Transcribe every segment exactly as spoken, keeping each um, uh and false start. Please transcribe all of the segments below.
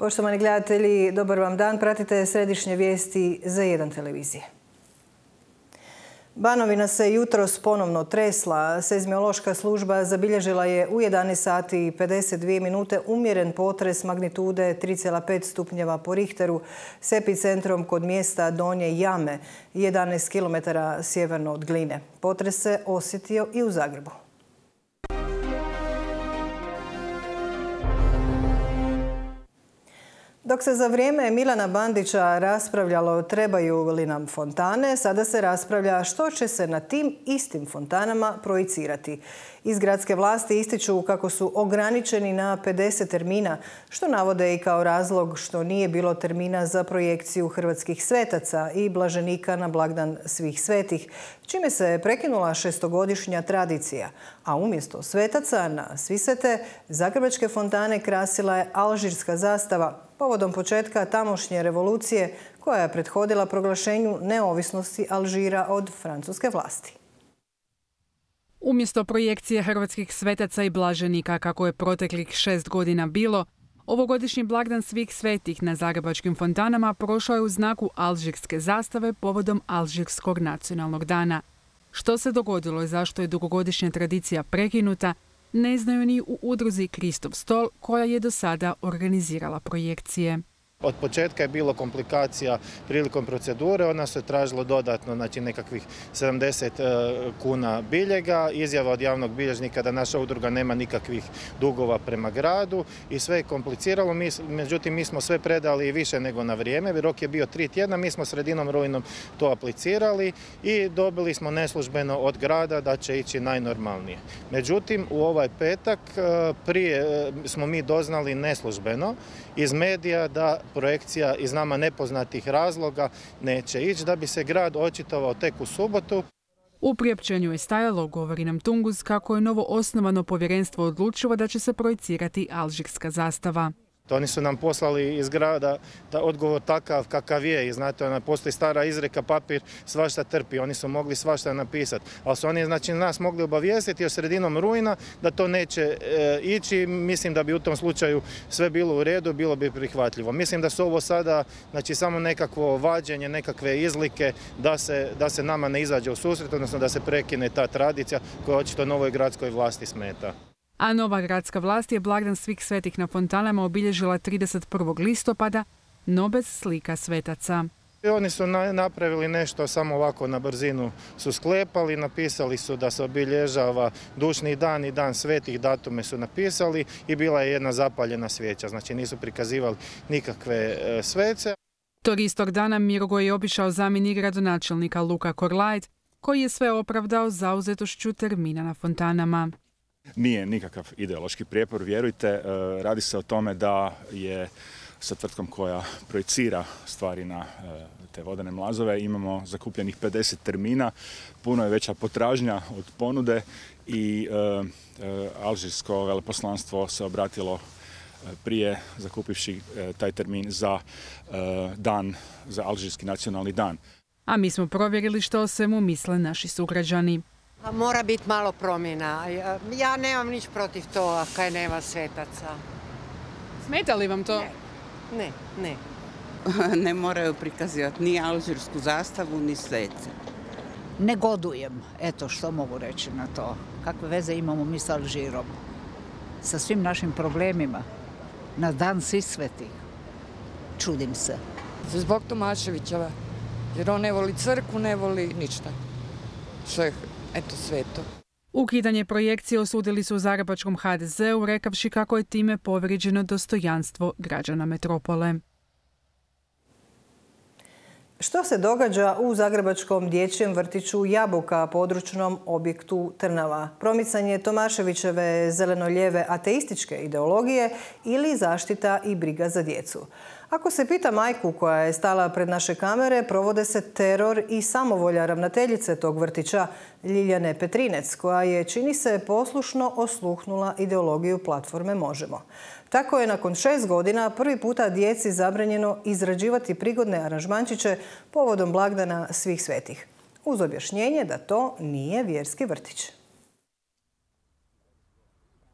Poštovani gledatelji, dobar vam dan. Pratite središnje vijesti Z jedan televizije. Banovina se jutros ponovno tresla. Seizmološka služba zabilježila je u jedanaest sati i pedeset dvije minute umjeren potres magnitude tri zarez pet stupnjeva po Richteru s epicentrom kod mjesta Donje Jame, jedanaest kilometara sjeverno od Gline. Potres se osjetio i u Zagrebu. Dok se za vrijeme Milana Bandića raspravljalo trebaju li nam fontane, sada se raspravlja što će se na tim istim fontanama projicirati. Iz gradske vlasti ističu kako su ograničeni na pedeset termina, što navode i kao razlog što nije bilo termina za projekciju hrvatskih svetaca i blaženika na blagdan svih svetih, čime se prekinula šestogodišnja tradicija. A umjesto svetaca na Svisvete, zagrebačke fontane krasila je alžirska zastava, povodom početka tamošnje revolucije koja je prethodila proglašenju neovisnosti Alžira od francuske vlasti. Umjesto projekcije hrvatskih svetaca i blaženika, kako je proteklih šest godina bilo, ovogodišnji blagdan svih svetih na zagrebačkim fontanama prošao je u znaku alžirske zastave povodom Alžirskog nacionalnog dana. Što se dogodilo i zašto je dugogodišnja tradicija prekinuta, ne znaju ni u udruzi Kristov stol, koja je do sada organizirala projekcije. Od početka je bilo komplikacija prilikom procedure, ona se tražilo dodatno, znači nekakvih sedamdeset kuna biljega, izjava od javnog bilježnika da naša udruga nema nikakvih dugova prema gradu i sve je kompliciralo, međutim mi smo sve predali i više nego na vrijeme, rok je bio tri tjedna, mi smo sredinom rujnom to aplicirali i dobili smo neslužbeno od grada da će ići najnormalnije. Međutim, u ovaj petak prije smo mi doznali neslužbeno iz medija da projekcija iz nama nepoznatih razloga neće ići, da bi se grad očitovao tek u subotu. U priopćenju je stajalo, govori nam Tunguz, kako je novo osnovano povjerenstvo odlučilo da će se projicirati alžirska zastava. Oni su nam poslali iz grada da odgovor takav kakav je i znate, ona postoji stara izreka, papir svašta trpi, oni su mogli svašta napisati, ali su oni znači nas mogli obavijestiti još sredinom rujna da to neće e, ići. Mislim da bi u tom slučaju sve bilo u redu, bilo bi prihvatljivo. Mislim da su ovo sada znači samo nekakvo vađenje, nekakve izlike da se, da se nama ne izađe u susret, odnosno da se prekine ta tradicija koja očito novoj gradskoj vlasti smeta. A nova gradska vlast je blagdan svih svetih na fontanama obilježila trideset prvog listopada, no bez slika svetaca. I oni su napravili nešto samo ovako na brzinu su sklepali, napisali su da se obilježava dušni dan i dan svetih, datume su napisali i bila je jedna zapaljena svijeća, znači nisu prikazivali nikakve svece. Tog istog dana Mirogoj je obišao zamjenik gradonačelnika Luka Korlajt, koji je sve opravdao zauzetošću termina na fontanama. Nije nikakav ideološki prijepor, vjerujte, radi se o tome da je sa tvrtkom koja projicira stvari na te vodene mlazove imamo zakupljenih pedeset termina, puno je veća potražnja od ponude i alžirsko veleposlanstvo se obratilo prije zakupivši taj termin za dan, za alžirski nacionalni dan. A mi smo provjerili što o svemu misle naši sugrađani. Mora biti malo promjena. Ja nemam nič protiv toga kaj nema svetaca. Smeta li vam to? Ne, ne. Ne, ne moraju prikazivati ni alžirsku zastavu, ni svece. Negodujem, eto što mogu reći na to. Kakve veze imamo mi s Alžirom? Sa svim našim problemima. Na dan svih svetih. Čudim se. Zbog Tomaševićeva. Jer on ne voli crkvu, ne voli ništa. Sve eto sveto. Ukidanje projekcije osudili su u zagrebačkom ha de zeu, rekavši kako je time povrijeđeno dostojanstvo građana metropole. Što se događa u zagrebačkom dječjem vrtiću Jabuka, područnom objektu Trnava? Promicanje Tomaševićeve zeleno-lijeve ateističke ideologije ili zaštita i briga za djecu? Ako se pita majku koja je stala pred naše kamere, provode se teror i samovolja ravnateljice tog vrtića, Ljiljane Petrinec, koja je, čini se, poslušno osluhnula ideologiju platforme Možemo. Tako je nakon šest godina prvi puta djeci zabranjeno izrađivati prigodne aranžmančiće povodom blagdana svih svetih, uz objašnjenje da to nije vjerski vrtić.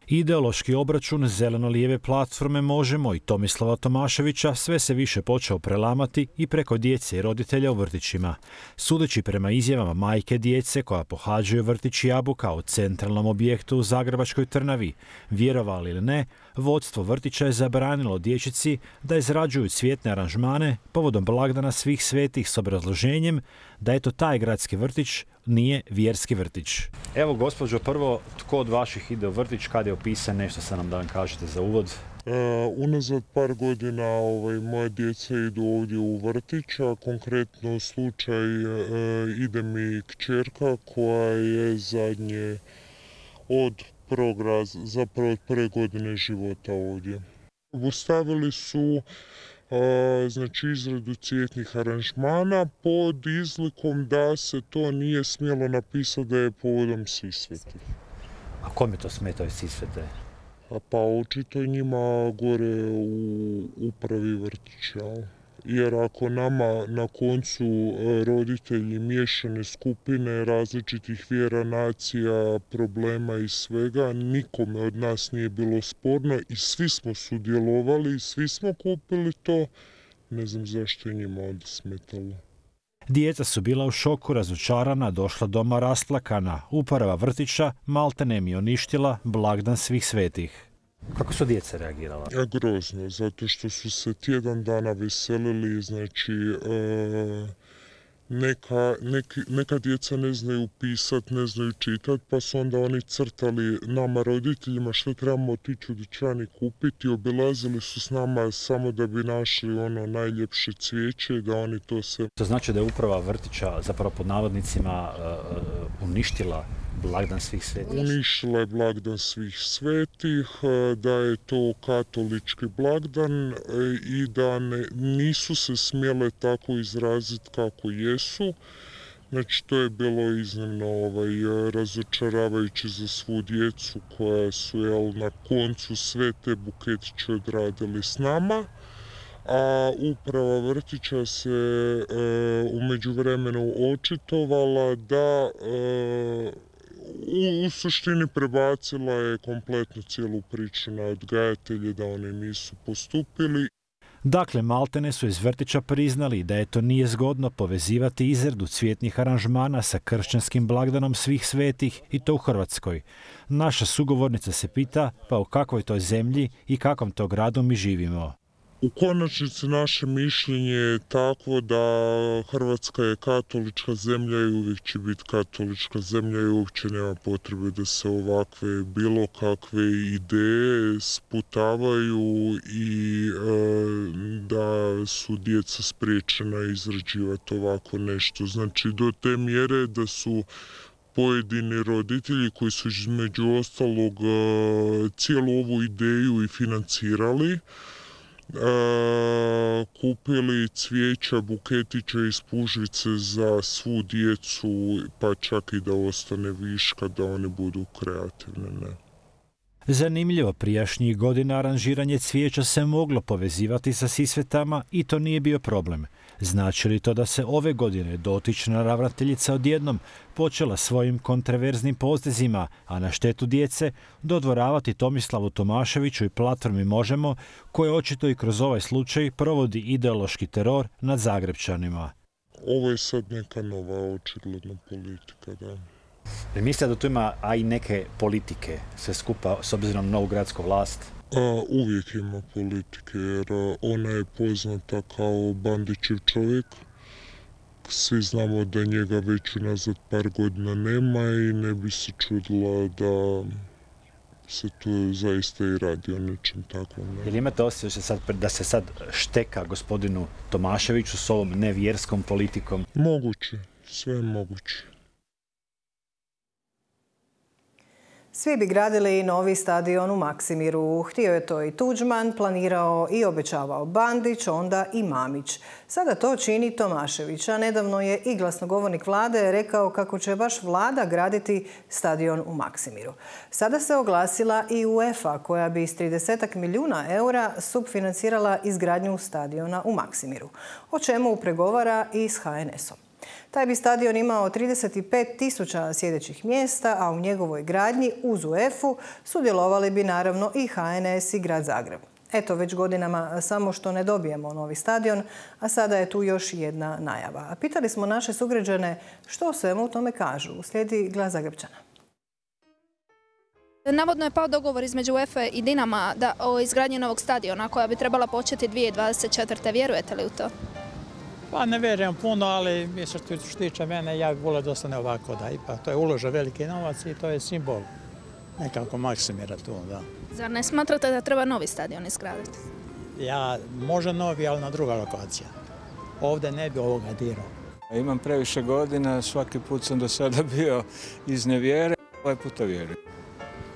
Ideološki obračun zeleno-lijeve platforme Možemo i Tomislava Tomaševića sve se više počeo prelamati i preko djece i roditelja u vrtićima. Sudeći prema izjavama majke djece koja pohađaju vrtić Jabuka u centralnom objektu u Zagrebačkoj Trnavi, vjerovali ili ne, vodstvo vrtića je zabranilo dječici da izrađuju cvjetne aranžmane povodom blagdana svih svetih s obrazloženjem da eto taj gradski vrtić nije vjerski vrtić. Evo, gospođo, prvo, tko od vaših ide u vrtić, kad je opisan, nešto sa nam da vam kažete za uvod? Uh, unazad par godina ovaj, moje djeca idu ovdje u vrtić, a konkretno slučaj uh, ide mi kćerka koja je zadnje od prvog raz, zapravo od prve godine života ovdje. Ostavili su Uh, znači izradu cvjetnih aranžmana pod izlikom da se to nije smjelo napisati da je povodom Sisvete. A kome to smetaju Sisvete? A pa očito njima gore u upravi vrtića. Jer ako nama na koncu roditelji miješane skupine različitih vjera, nacija, problema i svega, nikome od nas nije bilo sporno i svi smo sudjelovali, svi smo kupili to, ne znam zašto je njima onda smetalo. Djeca su bila u šoku, razočarana, došla doma rasplakana. Uprava vrtića maltene mi uništila blagdan svih svetih. Kako su djeca reagirala? Ja, grozno, zato što su se tjedan dana veselili, znači e, neka, neki, neka djeca ne znaju pisat, ne znaju čitat, pa su onda oni crtali nama roditeljima što trebamo otići u dućan i kupiti, obilazili su s nama samo da bi našli ono najljepše cvijeće i da oni to se... To znači da je uprava vrtića, zapravo pod navodnicima, uh, uništila blagdan svih svetih? Uništila je blagdan svih svetih, da je to katolički blagdan i da ne, nisu se smjele tako izraziti kako jesu. Znači to je bilo iznimno ovaj, razočaravajuće za svu djecu koja su jel, na koncu sve te buketiće odradili s nama. A uprava vrtića se e, u međuvremenu očitovala da e, U, u suštini prebacila je kompletno cijelu priču na odgajatelje da oni nisu postupili. Dakle, maltene su iz vrtića priznali da je to nije zgodno povezivati izradu cvjetnih aranžmana sa kršćanskim blagdanom svih svetih i to u Hrvatskoj. Naša sugovornica se pita pa u kakvoj toj zemlji i kakvom to gradu mi živimo. U konačnici naše mišljenje je takvo da Hrvatska je katolička zemlja i uvijek će biti katolička zemlja i uopće nema potrebe da se ovakve bilo kakve ideje sputavaju i e, da su djeca spriječena izrađivati ovako nešto. Znači do te mjere da su pojedini roditelji koji su između ostalog e, cijelu ovu ideju i financirali, E, kupili cvijeća, buketića i spužvice za svu djecu, pa čak i da ostane viška, da oni budu kreativne. Ne. Zanimljivo, prijašnjih godina aranžiranje cvijeća se moglo povezivati sa Sisvetama i to nije bio problem. Znači li to da se ove godine dotična ravnateljica odjednom počela svojim kontroverznim potezima, a na štetu djece, dodvoravati Tomislavu Tomaševiću i platformi Možemo, koje očito i kroz ovaj slučaj provodi ideološki teror nad Zagrebčanima? Ovo je sad neka nova očigledna politika, da. Ne mislite da tu ima, a i neke politike, sve skupa, s obzirom na novu gradsku vlast? A, uvijek ima politike, jer ona je poznata kao Bandićev čovjek. Svi znamo da njega već unazad par godina nema i ne bi se čudila da se tu zaista i radi o nečem takvom. Jel imate osjećaj da se sad šteka gospodinu Tomaševiću s ovom nevjerskom politikom? Moguće, sve je moguće. Svi bi gradili novi stadion u Maksimiru. Htio je to i Tuđman, planirao i obećavao Bandić, onda i Mamić. Sada to čini Tomašević, a nedavno je i glasnogovornik vlade rekao kako će baš vlada graditi stadion u Maksimiru. Sada se oglasila i UEFA koja bi s trideset milijuna eura subfinancirala izgradnju stadiona u Maksimiru, o čemu pregovara i s H N S-om. Taj bi stadion imao trideset pet tisuća sjedećih mjesta, a u njegovoj gradnji uz UEFA-u sudjelovali bi naravno i H N S i Grad Zagreb. Eto, već godinama samo što ne dobijemo novi stadion, a sada je tu još jedna najava. A pitali smo naše sugrađane što svemu u tome kažu. Slijedi Glas Zagrebčana. Navodno je pao dogovor između UEFA i Dinama da, o izgradnji novog stadiona koja bi trebala početi dvije tisuće dvadeset četvrte. Vjerujete li u to? Pa ne vjerujem puno, ali što se tiče mene, ja bih volio da ostane ovako. Da, ipak to je uložen veliki novac i to je simbol. Nekako maksimira tu, da. Zar ne smatrate da treba novi stadion izgraditi? Ja, može novi, ali na druga lokacija. Ovdje ne bi ovoga dirao. Imam previše godina, svaki put sam do sada bio iz nevjere, ovaj puta vjerujem.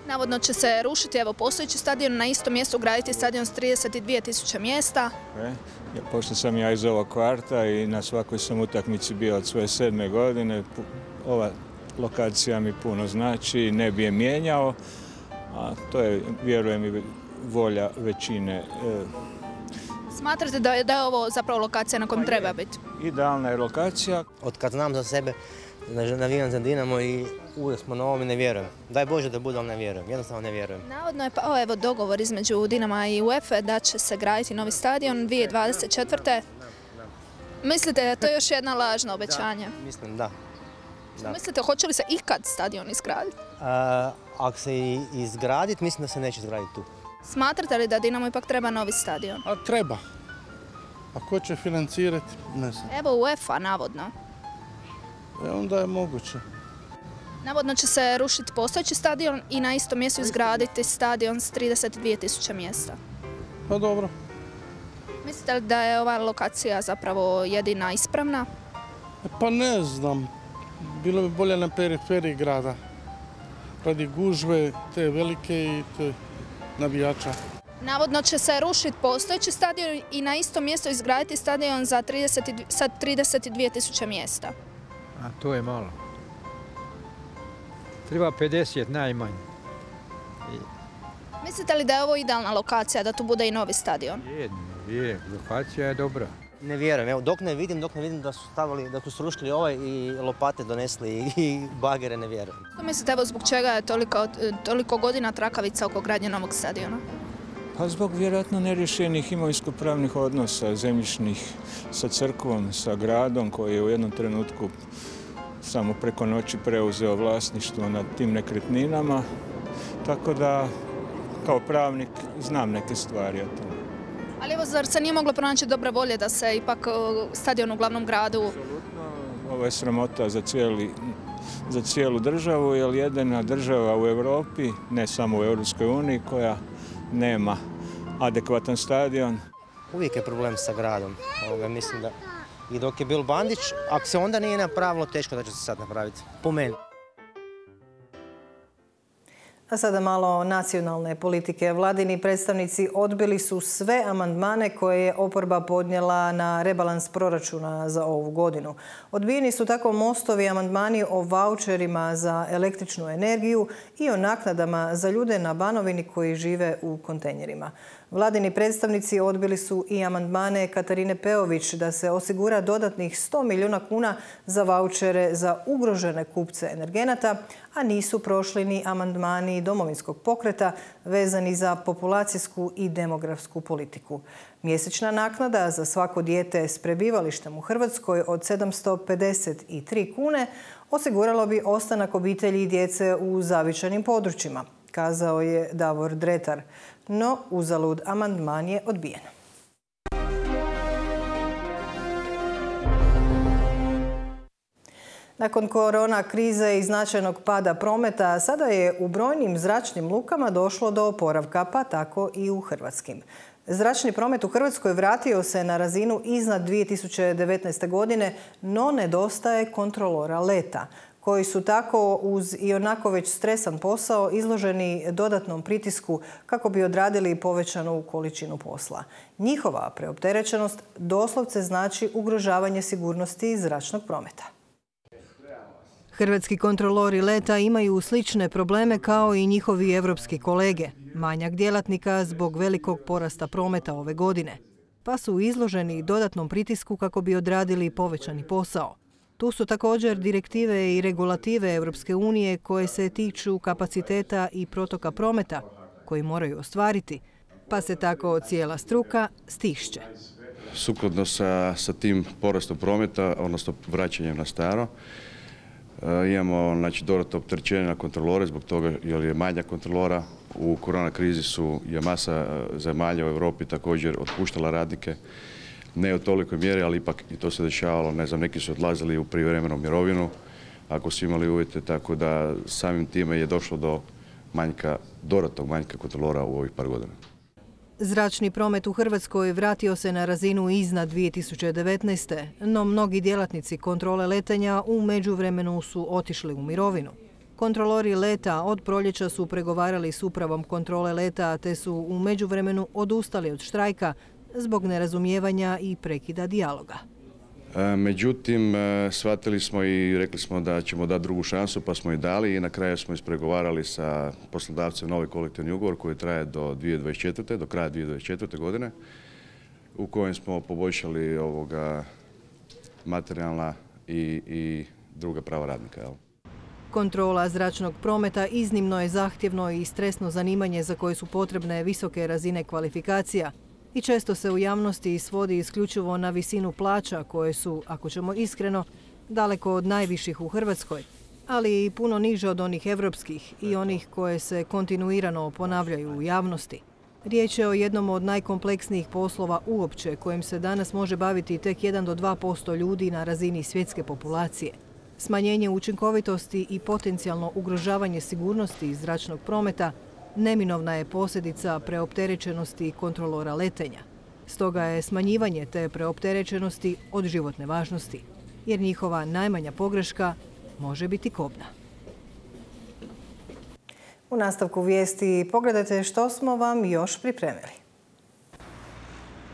Navodno će se rušiti evo postojeći stadion, na istom mjestu graditi stadion s trideset dvije tisuće mjesta. E, ja, pošto sam ja iz ovog kvarta i na svakoj sam utakmici bio od svoje sedme godine, ova lokacija mi puno znači, ne bi je mijenjao, a to je, vjerujem, i volja većine. E, Smatrate da je, da je ovo zapravo lokacija na kojem treba biti? Idealna je lokacija. Od kad znam za sebe, navijam za Dinamo i uvijek smo na ovom i ne vjerujem. Daj Bože da bude, ali ne vjerujem. Jednostavno ne vjerujem. Navodno je pao evo dogovor između Dinama i UEFA da će se graditi novi stadion dvije tisuće dvadeset četvrte. Mislite da je to još jedna lažna obećanja? Da, mislim da. da. Mislite, hoće li se ikad stadion izgraditi? A, ako se izgraditi, mislim da se neće izgraditi tu. Smatrate li da Dinamo ipak treba novi stadion? A treba. A ko će financirati? Ne znam. Evo UEFA, navodno. E, onda je moguće. Navodno će se rušiti postojeći stadion i na istom mjestu izgraditi stadion s trideset dvije tisuće mjesta. Pa dobro. Mislite li da je ova lokacija zapravo jedina ispravna? E, pa ne znam. Bilo bi bolje na periferiji grada. Radi gužve, te velike i te navijača. Navodno će se rušiti postojeći stadion i na istom mjestu izgraditi stadion za trideset, sa trideset dvije tisuće mjesta. A to je malo. Treba pedeset najmanje. I... Mislite li da je ovo idealna lokacija, da tu bude i novi stadion? Je, je, lokacija je dobra. Ne vjerujem, evo dok ne vidim, dok ne vidim da su stavili, da su srušili ovaj i lopate donesli i bagere, ne vjerujem. Što mislite, evo zbog čega je toliko, toliko godina trakavica oko gradnje novog stadiona? Pa zbog vjerojatno nerješenih imovinsko-pravnih odnosa, zemljišnih sa crkvom, sa gradom koji je u jednom trenutku samo preko noći preuzeo vlasništvo nad tim nekretninama. Tako da, kao pravnik, znam neke stvari o tome. Ali evo, zar se nije moglo pronaći dobre volje da se ipak stadion u glavnom gradu... Apsolutno, ovo je sramota za, cijeli, za cijelu državu, jer jedina država u Europi, ne samo u Europskoj uniji, koja nema adekvatan stadion. Uvijek je problem sa gradom. Ovoga, mislim da i dok je bil Bandić, ako se onda nije napravilo, teško da će se sad napraviti. Po meni. A sada malo nacionalne politike. Vladini predstavnici odbili su sve amandmane koje je oporba podnijela na rebalans proračuna za ovu godinu. Odbijeni su tako Mostovi amandmani o vaučerima za električnu energiju i o naknadama za ljude na Banovini koji žive u kontejnerima. Vladini predstavnici odbili su i amandmane Katarine Peović da se osigura dodatnih sto milijuna kuna za vaučere za ugrožene kupce energenata, a nisu prošli ni amandmani Domovinskog pokreta vezani za populacijsku i demografsku politiku. Mjesečna naknada za svako dijete s prebivalištem u Hrvatskoj od sedamsto pedeset tri kune osiguralo bi ostanak obitelji i djece u zavičajnim područjima, kazao je Davor Dretar. No, uzalud, amandman je odbijen. Nakon korona krize i značajnog pada prometa, sada je u brojnim zračnim lukama došlo do oporavka, pa tako i u hrvatskim. Zračni promet u Hrvatskoj vratio se na razinu iznad dvije tisuće devetnaeste. godine, no nedostaje kontrolora leta, koji su tako uz ionako već stresan posao izloženi dodatnom pritisku kako bi odradili povećanu količinu posla. Njihova preopterećenost doslovce znači ugrožavanje sigurnosti zračnog prometa. Hrvatski kontrolori leta imaju slične probleme kao i njihovi evropski kolege. Manjak djelatnika zbog velikog porasta prometa ove godine, pa su izloženi dodatnom pritisku kako bi odradili povećani posao. Tu su također direktive i regulative Europske unije koje se tiču kapaciteta i protoka prometa koji moraju ostvariti, pa se tako cijela struka stišće. Sukladno sa, sa tim porastom prometa, odnosno vraćanjem na staro, e, imamo znači, dodatno opterećenje na kontrolore zbog toga jer je manja kontrolora. U korona krizi su je masa zemalja u Europi također otpuštala radnike, ne u tolikoj mjeri, ali ipak i to se dešavalo. Ne znam, neki su odlazili u prijevremenu mirovinu ako su imali uvjete, tako da samim time je došlo do manjka, dodatnog manjka kontrolora u ovih par godina. Zračni promet u Hrvatskoj vratio se na razinu iznad dvije tisuće devetnaeste. no mnogi djelatnici kontrole letenja u međuvremenu su otišli u mirovinu. Kontrolori leta od proljeća su pregovarali s upravom kontrole leta te su u međuvremenu odustali od štrajka zbog nerazumijevanja i prekida dijaloga. Međutim, shvatili smo i rekli smo da ćemo dati drugu šansu, pa smo i dali i na kraju smo ispregovarali sa poslodavcem novi kolektivni ugovor koji traje do dvije tisuće dvadeset četvrte. do kraja dvije tisuće dvadeset četvrte. godine, u kojem smo poboljšali ovoga materijalna i, i druga prava radnika. Jel? Kontrola zračnog prometa iznimno je zahtjevno i stresno zanimanje za koje su potrebne visoke razine kvalifikacija i često se u javnosti svodi isključivo na visinu plaća koje su, ako ćemo iskreno, daleko od najviših u Hrvatskoj, ali i puno niže od onih evropskih i onih koje se kontinuirano ponavljaju u javnosti. Riječ je o jednom od najkompleksnijih poslova uopće kojim se danas može baviti tek jedan do dva posto ljudi na razini svjetske populacije. Smanjenje učinkovitosti i potencijalno ugrožavanje sigurnosti zračnog prometa neminovna je posljedica preopterećenosti kontrolora letenja. Stoga je smanjivanje te preopterećenosti od životne važnosti, jer njihova najmanja pogreška može biti kobna. U nastavku vijesti pogledajte što smo vam još pripremili.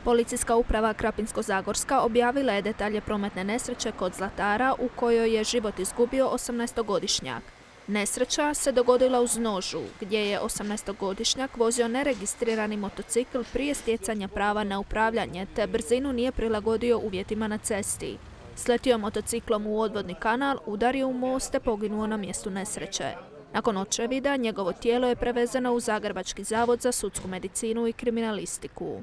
Policijska uprava Krapinsko-zagorska objavila je detalje prometne nesreće kod Zlatara u kojoj je život izgubio osamnaestogodišnjak. Nesreća se dogodila uz Nožu, gdje je osamnaestogodišnjak vozio neregistrirani motocikl prije stjecanja prava na upravljanje, te brzinu nije prilagodio uvjetima na cesti. Sletio motociklom u odvodni kanal, udario u most te poginuo na mjestu nesreće. Nakon očevida, njegovo tijelo je prevezeno u Zagrebački zavod za sudsku medicinu i kriminalistiku.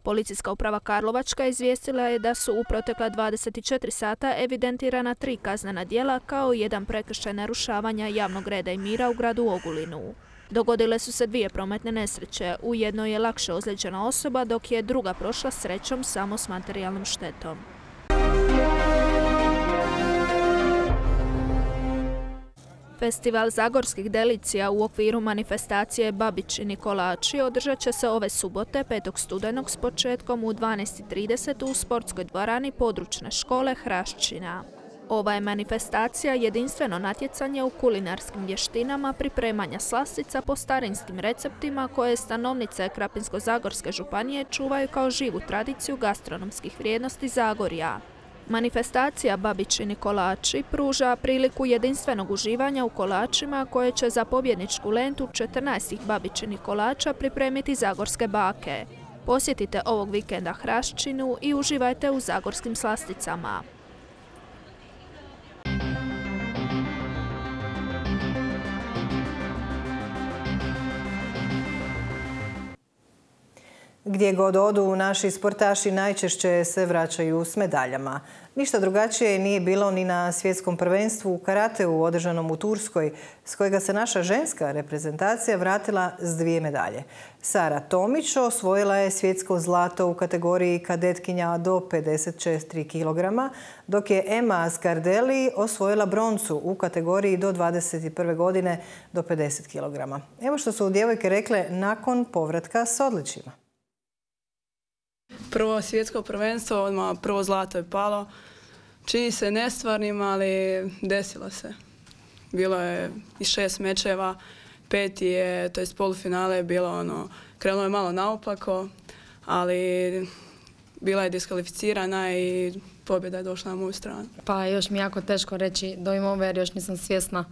Policijska uprava Karlovačka izvijestila je da su u protekla dvadeset četiri sata evidentirana tri kaznena djela kao i jedan prekršaj narušavanja javnog reda i mira u gradu Ogulinu. Dogodile su se dvije prometne nesreće. U jednoj je lakše ozlijeđena osoba, dok je druga prošla srećom samo s materijalnom štetom. Festival zagorskih delicija u okviru manifestacije Babičini kolači održat će se ove subote petog studenog s početkom u dvanaest i trideset u sportskoj dvorani područne škole Hraščina. Ova je manifestacija jedinstveno natjecanje u kulinarskim vještinama pripremanja slastica po starinskim receptima koje stanovnice Krapinsko-zagorske županije čuvaju kao živu tradiciju gastronomskih vrijednosti Zagorja. Manifestacija Babičini kolači pruža priliku jedinstvenog uživanja u kolačima koje će za pobjedničku lentu četrnaest Babičinih kolača pripremiti zagorske bake. Posjetite ovog vikenda Hraščinu i uživajte u zagorskim slasticama. Gdje god odu, naši sportaši najčešće se vraćaju s medaljama. Ništa drugačije nije bilo ni na svjetskom prvenstvu u karateu održanom u Turskoj, s kojega se naša ženska reprezentacija vratila s dvije medalje. Sara Tomić osvojila je svjetsko zlato u kategoriji kadetkinja do pedeset četiri kilograma, dok je Emma Scardelli osvojila broncu u kategoriji do dvadeset prve godine do pedeset kilograma. Evo što su djevojke rekle nakon povratka s odličjima. Prvo svjetsko prvenstvo, odmah prvo zlato je palo. Čini se nestvarnim, ali desilo se. Bilo je i šest mečeva, peti je, to je polufinale je bilo ono, krenulo je malo naopako, ali bila je diskvalificirana i pobjeda je došla na moju stranu. Pa još mi je jako teško reći do ove jer još nisam svjesna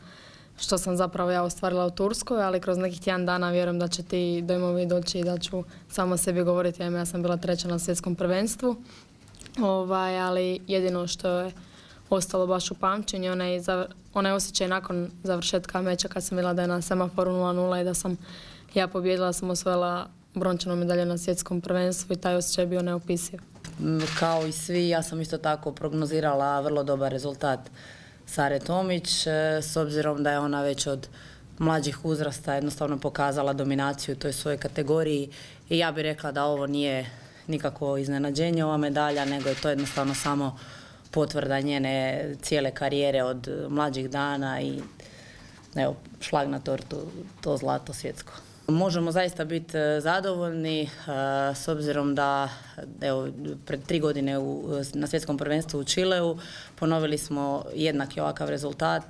što sam zapravo ja ostvarila u Turskoj, ali kroz nekih tjedan dana vjerujem da će ti dojmovi doći i da ću sama sebi govoriti. Ja sam bila treća na svjetskom prvenstvu, ovaj, ali jedino što je ostalo baš u pamćenju, onaj, onaj osjećaj nakon završetka meča kad sam bila da je na semaforu nula nula i da sam ja pobjedila, sam osvojila brončanu medalju na svjetskom prvenstvu i taj osjećaj je bio neopisiv. Kao i svi, ja sam isto tako prognozirala vrlo dobar rezultat Sare Tomić, s obzirom da je ona već od mlađih uzrasta jednostavno pokazala dominaciju u toj svojoj kategoriji i ja bih rekla da ovo nije nikako iznenađenje ova medalja, nego je to jednostavno samo potvrda njene cijele karijere od mlađih dana i evo, šlag na tortu, to zlato svjetsko. Možemo zaista biti zadovoljni s obzirom da evo, pred tri godine u, na svjetskom prvenstvu u Čileu ponovili smo jednaki ovakav rezultat,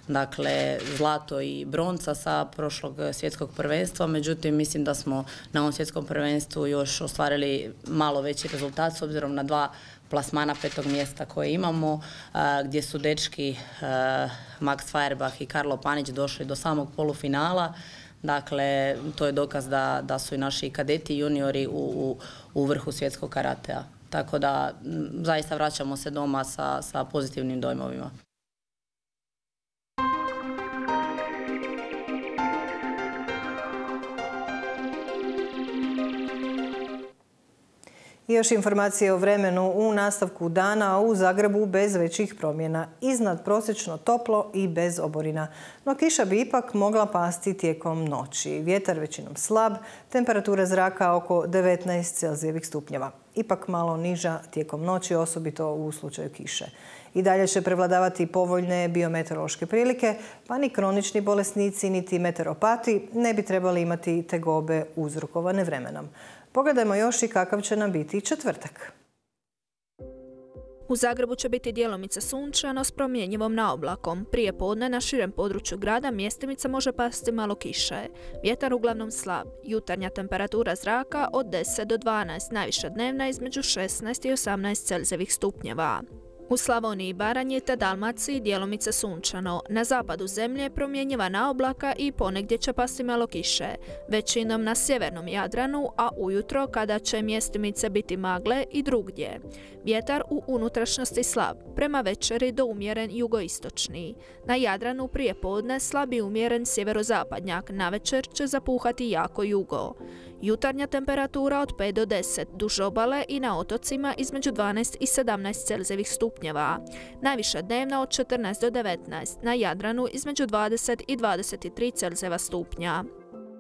dakle zlato i bronca sa prošlog svjetskog prvenstva, međutim mislim da smo na ovom svjetskom prvenstvu još ostvarili malo veći rezultat s obzirom na dva plasmana petog mjesta koje imamo, gdje su dečki Max Feuerbach i Karlo Panić došli do samog polufinala. Dakle, to je dokaz da, da su i naši kadeti i juniori u, u, u vrhu svjetskog karatea. Tako da zaista vraćamo se doma sa, sa pozitivnim dojmovima. I još informacije o vremenu u nastavku dana u Zagrebu bez većih promjena. Iznad prosječno toplo i bez oborina. No kiša bi ipak mogla pasti tijekom noći. Vjetar većinom slab, temperatura zraka oko devetnaest Celzijevih stupnjeva. Ipak malo niža tijekom noći, osobito u slučaju kiše. I dalje će prevladavati povoljne biometeorološke prilike, pa ni kronični bolesnici niti meteoropati ne bi trebali imati tegobe uzrokovane vremenom. Pogledajmo još i kakav će nam biti četvrtak. U Zagrebu će biti djelomice sunčano s promjenjivom naoblakom. Prije podne na širem području grada mjestimica može pasti malo kiše. Vjetar uglavnom slab. Jutarnja temperatura zraka od deset do dvanaest, najviša dnevna između šesnaest i osamnaest Celzijevih stupnjeva. U Slavoniji i Baranji te Dalmaciji djelomice sunčano. Na zapadu zemlje promjenjiva naoblaka i ponegdje će pasti malo kiše. Većinom na sjevernom Jadranu, a ujutro kada će mjestimice biti magle i drugdje. Vjetar u unutrašnjosti slab, prema večeri do umjeren jugoistočni. Na Jadranu prije podne slab i umjeren sjeverozapadnjak, navečer će zapuhati jako jugo. Jutarnja temperatura od pet do deset, duž obale i na otocima između dvanaest i sedamnaest Celzijevih stupnjeva. Najviša dnevna od četrnaest do devetnaest, na Jadranu između dvadeset i dvadeset tri Celzijeva stupnja.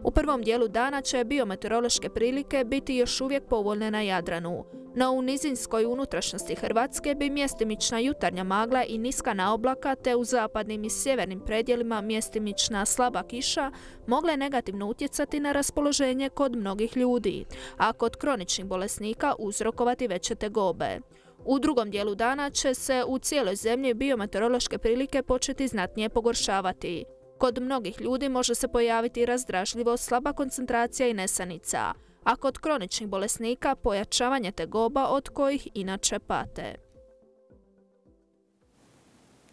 U prvom dijelu dana će biometeorološke prilike biti još uvijek povoljne na Jadranu, no u nizinskoj unutrašnjosti Hrvatske bi mjestimična jutarnja magla i niska naoblaka te u zapadnim i sjevernim predjelima mjestimična slaba kiša mogle negativno utjecati na raspoloženje kod mnogih ljudi, a kod kroničnih bolesnika uzrokovati veće tegobe. U drugom dijelu dana će se u cijeloj zemlji biometeorološke prilike početi znatnije pogoršavati. Kod mnogih ljudi može se pojaviti razdražljivost, slaba koncentracija i nesanica, a kod kroničnih bolesnika pojačavanje tegoba od kojih inače pate.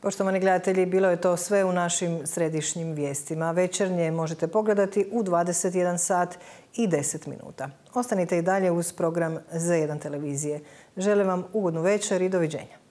Poštovani gledatelji, bilo je to sve u našim središnjim vijestima. Večernje možete pogledati u dvadeset jedan sat i deset minuta. Ostanite i dalje uz program Z jedan televizije. Želim vam ugodnu večer i doviđenja.